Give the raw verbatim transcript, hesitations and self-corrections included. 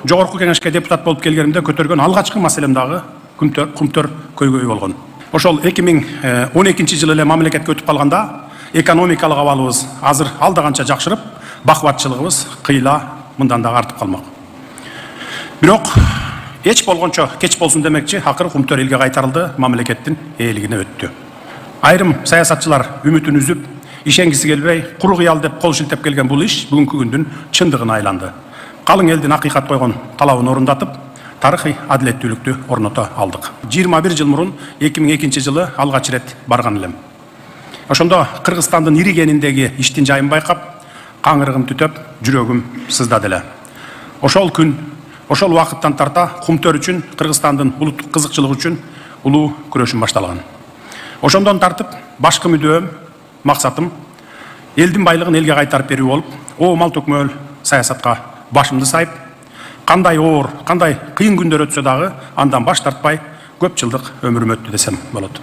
жогорку кеңешке депутат болуп келгенимде көтөргөн алгачкы маселем дагы Кумтөр көйгөйү болгон. Ошол эки миң он экинчи жылы эле мамлекетке өтүп калганда экономикалык абалыбыз азыр алда канча жакшырып, бакубатчылыгыбыз кыйла мындан дагы артып калмак. Бирок эч болгончо кеч болсун демекчи, акыры Кумтөр элге кайтарылды, мамлекеттин ээлигине өттү. Айрым саясатчылар үмүтүн үзүп, ишенгиси келбей, куру кыял деп кол шилтеп келген бул иш бүгүнкү күндүн чындыгына айланды. Калың элдин акыйкат койгон талабын орундатып, тарыхый адилеттүүлүктү орното алдык. жыйырма бир жыл мурун эки миң экинчи жылы алгач ирет барган элем. Ошондо Кыргызстандын иригениндеги иштин жайын байкап, каңырыгым түтөп, жүрөгүм сыздады эле. Ошол күн, ошол убакыттан тарта Кумтөр үчүн, Кыргызстандын улуттук кызыкчылыгы үчүн улуу күрөшүм башталган. Ошондон тартып, башкы мүдөөм, максатым элдин байлыгын элге кайтарып берүү болуп, о мал төкмөөл саясатка башымды сайып, кандай оор, кандай кыйын күндөр өтсө дагы андан баш тартпай көп жылдык өмүрүм өттү десем болот.